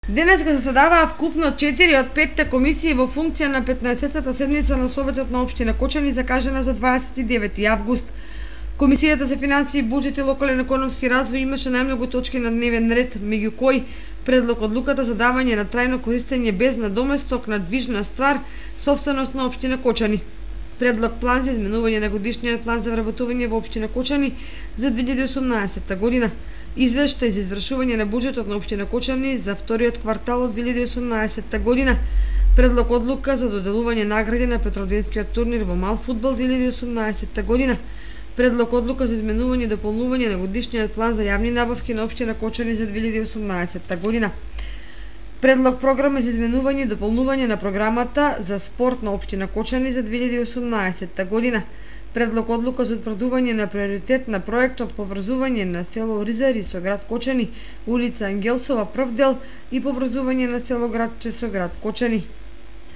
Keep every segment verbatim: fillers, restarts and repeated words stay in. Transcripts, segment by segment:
Денеска се заседаваа вкупно четири од петте комисии во функција на петнаесеттата седница на Советот на општина Кочани, закажана за дваесет и девети август. Комисијата за финансии, буџет и локален економски развој имаше најмногу точки на дневен ред, меѓу кои предлог одлуката за давање на трајно користење без надоместок на движна ствар, сопственост на општина Кочани. Предлог план за изменување на годишниот план за вработување во општина Кочани за две илјади и осумнаесетта година. Извештај за извршување на буџетот на општина Кочани за вториот квартал од две илјади и осумнаесетта година. Предлог одлука за доделување награди на Петроденскиот турнир во мал фудбал две илјади и осумнаесетта година. Предлог одлука за изменување и дополнување на годишниот план за јавни набавки на општина Кочани за две илјади и осумнаесетта година. Предлог програма за изменување и дополнување на програмата за спорт на општина Кочани за две илјади и осумнаесетта година. Предлог одлука за утврдување на приоритет на проектот поврзување на село Ризари со град Кочани, улица Ангелсова прв дел и поврзување на село Градче со град Кочани.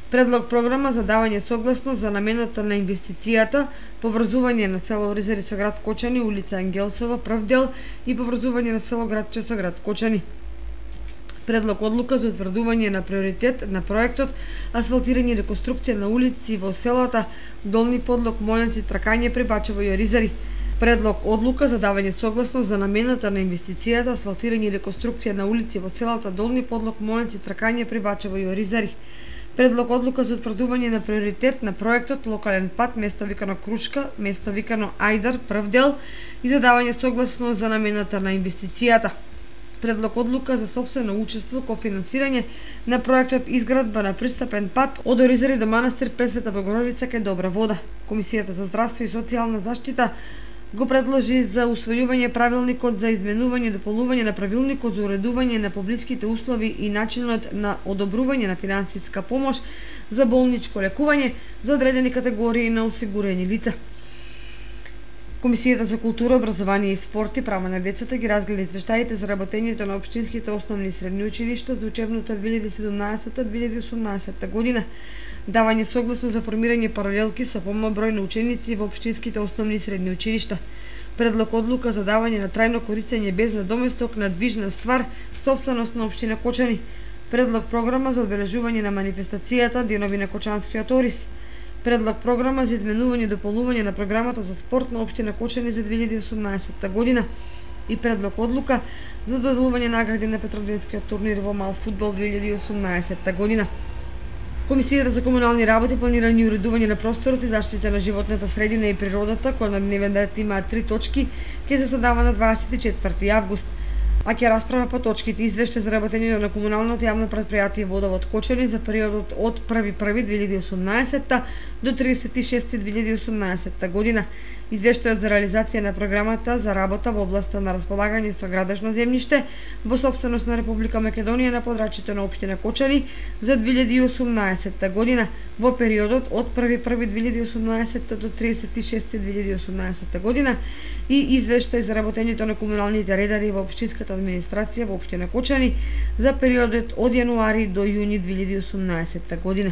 Предлог програма за давање согласност за намената на инвестицијата поврзување на село Ризари со град Кочани, улица Ангелсова прв дел и поврзување на село Градче со град Кочани. Предлог одлука за утврдување на приоритет на проектот асфалтирање и реконструкција на улици во селата Долни Подлог, Моленци, Тракање, Прибачево и Оризари. Предлог одлука за давање согласност за намената на инвестицијата асфалтирање и реконструкција на улици во селата Долни Подлог, Моленци, Тракање, Прибачево и Оризари. Предлог одлука за утврдување на приоритет на проектот локален пат место викано Крушка, место викано Ајдар прв дел и за давање согласност за намената на инвестицијата. Предлог одлука за сопствено учество ко финансирање на проектот изградба на пристапен пат од Оризари до манастир Пресвета Богородица кај Добра вода. Комисијата за здравство и социјална заштита го предложи за усвојување правилникот за изменување и дополнување на правилникот за уредување на публичките услови и начинот на одобрување на финансиска помош за болничко лекување за одредени категории на осигурени лица. Комисијата за култура, образование и спорт и права на децата ги разгледа извештаите за работењето на општинските основни и средни училишта за учебната две илјади и седумнаесетта две илјади и осумнаесетта година. Давање согласно за формирање паралелки со помал број на ученици во општинските основни и средни училишта. Предлог одлука за давање на трајно користење без надоместок на движна ствар, сопственост на општина Кочани. Предлог програма за одбележување на манифестацијата Денови на Кочанскиот ориз. Предлог програма за изменување и дополнување на програмата за спорт на општина Кочани за две илјади и осумнаесетта година и предлог одлука за доделување награди на Петроденскиот турнир во мал фудбал две илјади и осумнаесетта година. Комисијата за комунални работи, планирање и уредување на просторот и заштита на животната средина и природата, која на дневен ред има три точки, ќе се задава на дваесет и четврти август. А ќе расправа по точките извештај за работењето на комуналното јавно претпријатие Водовод Кочани за периодот од први први две илјади и осумнаесетта до тридесет и шести две илјади и осумнаесетта година, извештајот за реализација на програмата за работа во областа на располагање со градежно земјиште во сопственост на Република Македонија на подрачјето на општина Кочани за две илјади и осумнаесетта година во периодот од први први две илјади и осумнаесетта до тридесет и шести две илјади и осумнаесетта година и извештај за работењето на комуналните редари во општинската администрација во општина Кочани за периодот од јануари до јуни две илјади и осумнаесетта година.